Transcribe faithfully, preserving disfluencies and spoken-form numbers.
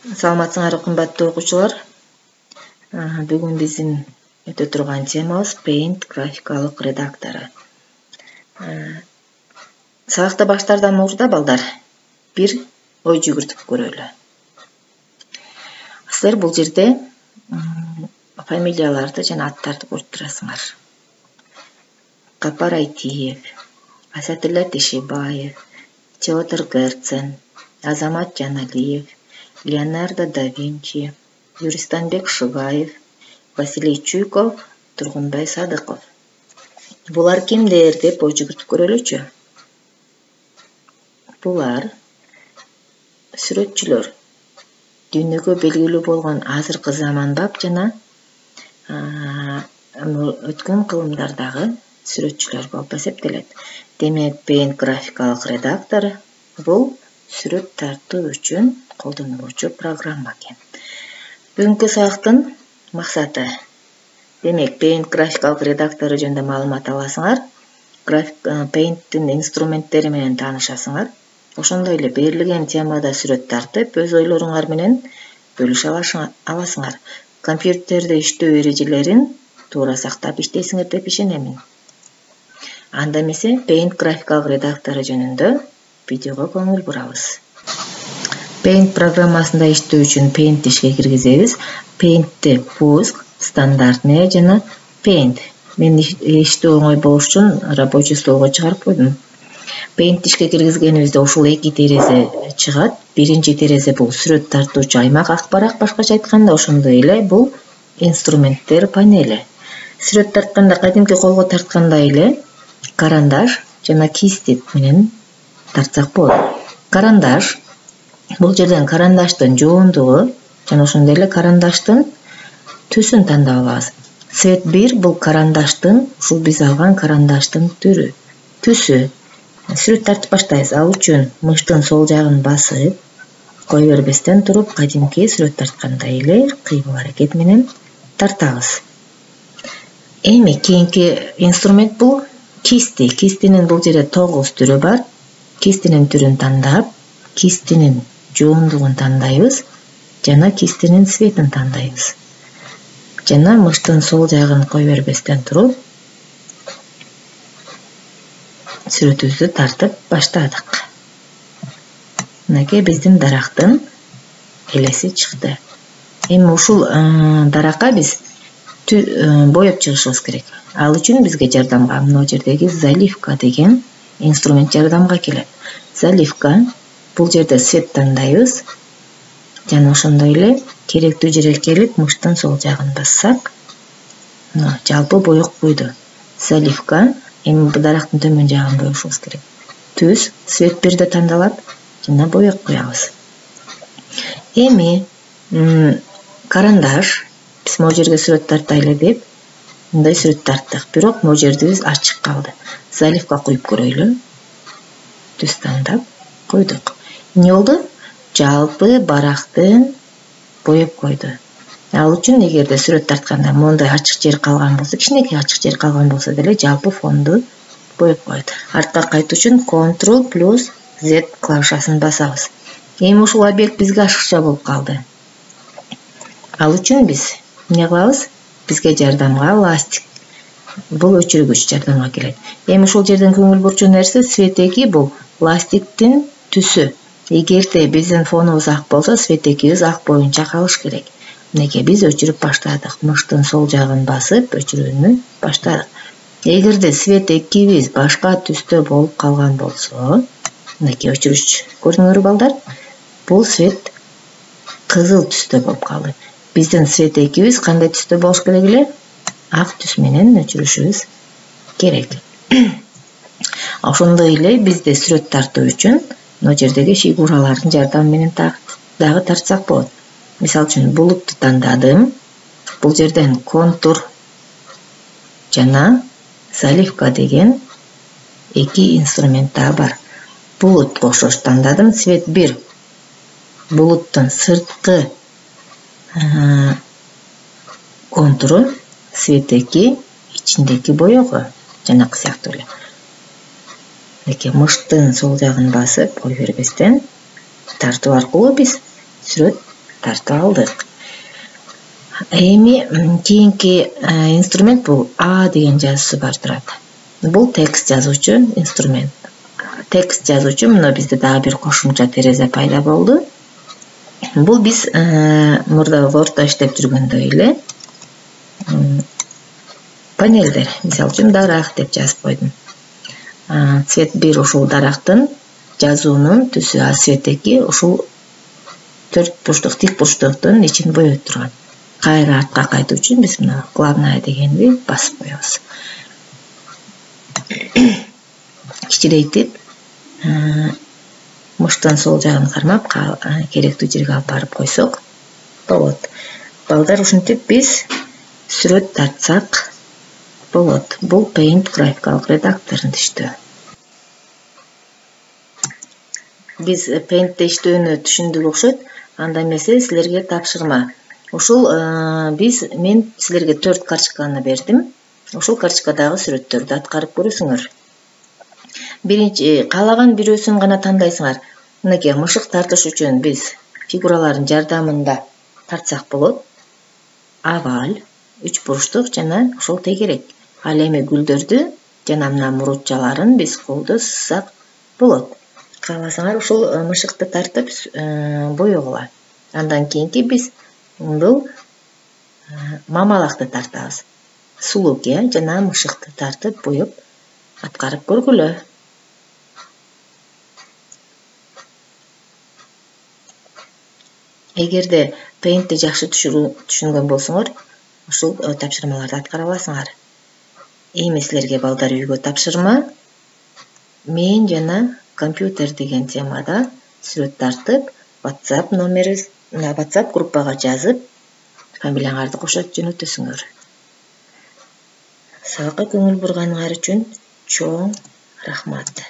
Саламатсыңарбы кымбаттуу окуучулар? Бүгүн биздин өтө турган темабыз Paint графикалык редактору. Сабакта баштаардан мурда балдар бир ой жүгүртүп көрөлү. Силер бул жерде фамилияларды жана аттарды көрүп турасыңар. Капарайтиев, Асатилла Тешебаев, Теодор Герцен, Азамат Жаналиев, Леонардо да Винчи, Юристанбек Шыгаев, Василий Чуйков, Тургунбай Садыков. Булар кимдер деп ой жүгүртүп көрөлүчү. Булар сүрөтчүлөр. Дүйнөгө белгилүү болгон азыркы заманбап жана өткөн кылымдардагы сүрөтчүлөр болуп эсептелет. Демек, Paint графикалык редактору бул сүрөт тартуу үчүн колдонулуучу программа экен. Бүгүнкү сабактын максаты, демек, Paint графикалык редактору жөнүндө маалымат аласыңар, Paint'тин инструменттери менен таанышасыңар. Ошондой эле берилген темада сүрөт тартып, өз ойлоруңар менен бөлүшө аласыңар. Компьютерде иштөө эрежелерин туура сактап иштейсиңер деп ишенемин. Анда эмесе Paint графикалык редактору жөнүндө видеого көңүл бурабыз. Paint программасында иштөө үчүн Paint ишке киргизебиз. Paint'те пуск, стандартный жана Paint. Мен иштөө оңой болуш үчүн рабочий столго чыгарып койдум. Paint ишке киргизгенибизде ушул эки терезе чыгат. Биринчи терезе бул сүрөт тартуучу аймак акбарак, башкача айтканда, ошондой эле бул инструменттер панели. Сүрөт тартканда кадимки колго тарткандай эле карандаш жана кисти менен тартсак болот. Карандаш бул жерден карандаштын жоондугу жана ошондой эле карандаштын түсүн тандап алабыз. Цвет бир бул карандаштын, ушул биз алган карандаштын түрү, түсү. Сүрөт тартып баштайбыз. Ал үчүн мыштын сол жагын басып, кой бербестен туруп, кадимки сүрөт тарткандай эле кыймыл аракет менен тартабыз. Эми кийинки инструмент бул кисти. Кистинин бул жерде тогуз түрү бар. Кистинин түрүн тандап, кистинин жоондугун тандайбыз жана кистинин цветин тандайбыз. Жана мыштын сол жагын кой бербестен туруп, сүрөтүбүздү тартып баштадык. Мынакей биздин дарактын элеси чыкты. Эми ушул даракка биз боеп чыгышыбыз керек. Ал үчүн бизге жардамга мына жердеги заливка деген инструмент жардамга келет. Заливка бул жерде цвет тандайбыз жана ошондой эле керектүү жерге келип мыштын сол жагын бассак, мына жалпы боек койду. Заливка. Эми бул дарактын төмөн жагын боюшубуз керек. Түз, цвет бирде тандалат жана боек коебуз. Эми карандаш, биз могу жерге сүрөт тартайлы деп мындай сүрөт тарттык, бирок могу жерибиз ачык калды. Заливка куюп көрөйлү. Түз тандап койдук. Эмне болду? Жалпы барактын боеп койду. Ал үчүн эгерде сүрөт тартканда мондай ачык жер калган болсо, кичинекей ачык жер калган болсо деле жалпы фонду боеп коет. Артка кайтуу үчүн контрол плюс Z клавишасын басабыз. Эми ушул объект бизге ашыкча болуп калды. Ал үчүн биз эмне кылабыз? Бизге жардамга ластик. Бул өчүргүч жардамга келет. Эми ушул жерден көңүл бурчу нерсе цветеги бул ластиктин түсү. Эгерде биздин фонубуз ак болсо, цветегибиз ак боюнча калыш керек. Мынакей биз өчүрүп баштадык. Мыштын сол жагын басып, өчүрүүнү баштадык. Эгерде цветегибиз башка түстө болуп калган болсо, мынакей өчүрүч көрдүңөрбү балдар? Бул цвет кызыл түстө болуп калды. Биздин цветегибиз кандай түстө болуш керек эле? Ак түс менен өчүрүшүбүз керек. Ошондой эле бизде сүрөт тартуу үчүн мына жердеги фигуралардын жардамы менен дагы тартсак болот. Мисалы үчүн булутту тандадым. Бул жерден контур жана заливка деген эки инструмент да бар. Булут кошош тандадым. Цвет бир. Булуттун сырткы контуру, цвет эки ичиндеги боёгу жанакы сыяктуу эле. Мынакей мыштын сол жагын басып, ой бербестен тартуу аркылуу биз сүрөт тартып алдык. Эми кийинки инструмент бул А деген жазуусу бар турат. Бул текст жазуучу инструмент. Текст жазуучу мына бизде дагы бир кошумча терезе пайда болду. Бул биз мурда Word'да иштеп жүргөндөй эле панелдер, мисалы үчүн дарак деп жазып койдум. Цвет бир ушул дарактын жазуунун түсү, а цвет эки ушул төрт бурчтук тик бурчтуктун ичин боёп турган. Кайра артка кайтуу үчүн биз мына главная дегенди басып коебуз. Кичирейтип, муштан сол жагын кармап, керектүү жерге алып барып койсок болот. Балдар, ушинтип биз сүрөт тартсак болот. Бул Paint графикалык редакторунун иштөө. Биз Paint'те иштөөнү түшүндүк окшойт. Анда эмесе силерге тапшырма. Ушул биз мен силерге төрт карточканы бердим. Ушул карточкадагы сүрөттөрдү аткарып көрөсүңөр. Биринчи каалаган бирөөсүн гана тандайсыңар. Мынакей мышык тартыш үчүн биз фигуралардын жардамында тартсак болот. Овал, үч бурчтук жана ошол тегерек. Ал эми гүлдөрдү жана мына мурутчаларын биз колдо сызсак болот. Кааласаңар ушул мышыкты тартып боёгула. Андан кийинки биз бул мамалакты тартабыз. Сулук э жана мышыкты тартып боёп аткарып көргүлө. Эгерде Paint'ти жакшы түшүнгөн болсоңор, ушул тапшырмаларды аткара аласыңар. Эми силерге балдар үйгө тапшырма. Мен жана компьютер деген темада сүрөт тартып, WhatsApp номери, WhatsApp группага жазып, фамилияңарды кошот жөнөтөсүңөр. Сабакка көңүл бурганыңар үчүн чоң рахмат.